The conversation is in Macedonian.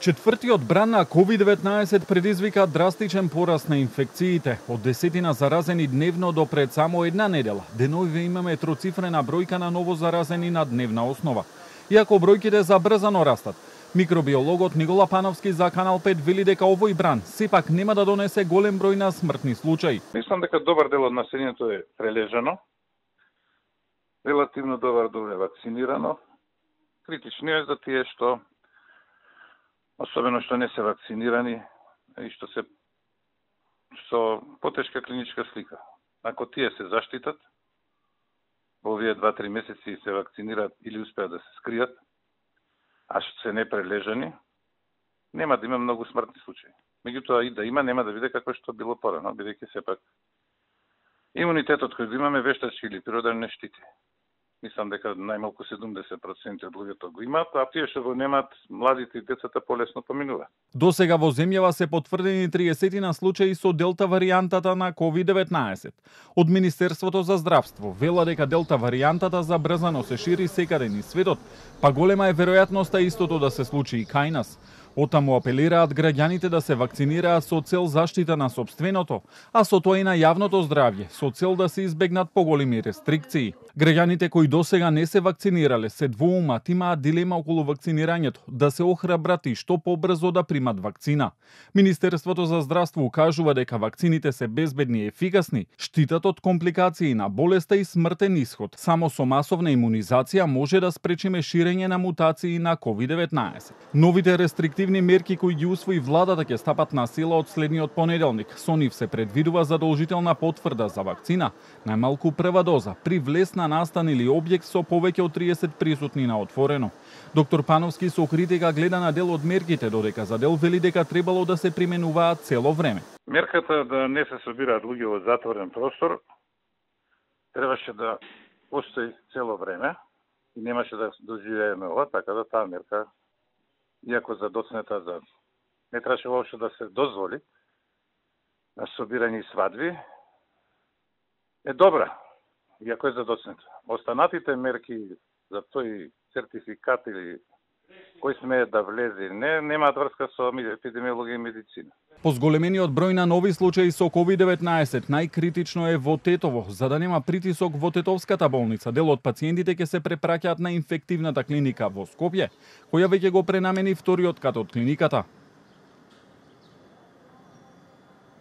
Четвртиот бран на COVID-19 предизвика драстичен пораст на инфекциите. Од 10 заразени дневно до пред само една недела. Деновиве имаме троцифрена бројка на ново заразени на дневна основа. Иако бројките забрзано растат, микробиологот Никола Пановски за Канал 5 вели дека овој бран сепак нема да донесе голем број на смртни случаи. Мислам дека добар дел од населението е прележано, релативно добар дел е вакцинирано. Критично е за тие што особено што не се вакцинирани и што се со потешка клиничка слика. Ако тие се заштитат, во овие 2-3 месеци се вакцинираат или успеат да се скријат, а што се непрележани, нема да има многу смртни случаи. Меѓутоа и да има, нема да биде како што било порано, бидејќи сепак имунитетот кој го имаме вештачки или природен не штити. Мислам дека најмалку 70% од луѓето го имаат, а тие што го немаат, младите и децата полесно поминуваат. До сега во земјава се потврдени 30 на случаи со делта варијантата на COVID-19. Од Министерството за здравство вела дека делта варијантата забрзано се шири секаде низ светот, па голема е веројатноста истото да се случи и кај нас. Отаму апелираат граѓаните да се вакцинираат со цел заштита на сопственото, а со тоа и на јавното здравје, со цел да се избегнат поголеми рестрикции. Граѓаните кои досега не се вакцинирале се двоумат, имаат дилема околу вакцинирањето, да се охрабрат и што побрзо да примат вакцина. Министерството за здравство кажува дека вакцините се безбедни и ефикасни, штитат од компликации на болеста и смртен исход. Само со масовна имунизација може да спречиме ширење на мутации на COVID-19. Новите рестриктивни мерки кои ги усвои владата ќе стапат на сила од следниот понеделник. Со нив се предвидува задолжителна потврда за вакцина, најмалку прва доза, при влез на настан или објект со повеќе од 30 присутни на отворено. Доктор Пановски со критика гледа на дел од мерките, додека за дел вели дека требало да се применуваат цело време. Мерката да не се собираат луѓе во затворен простор требаше да постои цело време и немаше да доживееме ова, така да таа мерка, иако задоцнета за не требаше воопшто да се дозволи на собирање и свадби, е добра, иако е задоцнета. Останатите мерки за тој сертификат или кој смее да влезе, немаат врска со епидемиологија и медицина. По зголемениот број на нови случаи со COVID-19, најкритично е во Тетово. За да нема притисок во Тетовската болница, дел од пациентите ќе се препраќаат на инфективната клиника во Скопје, која веќе го пренамени вториот кат од клиниката.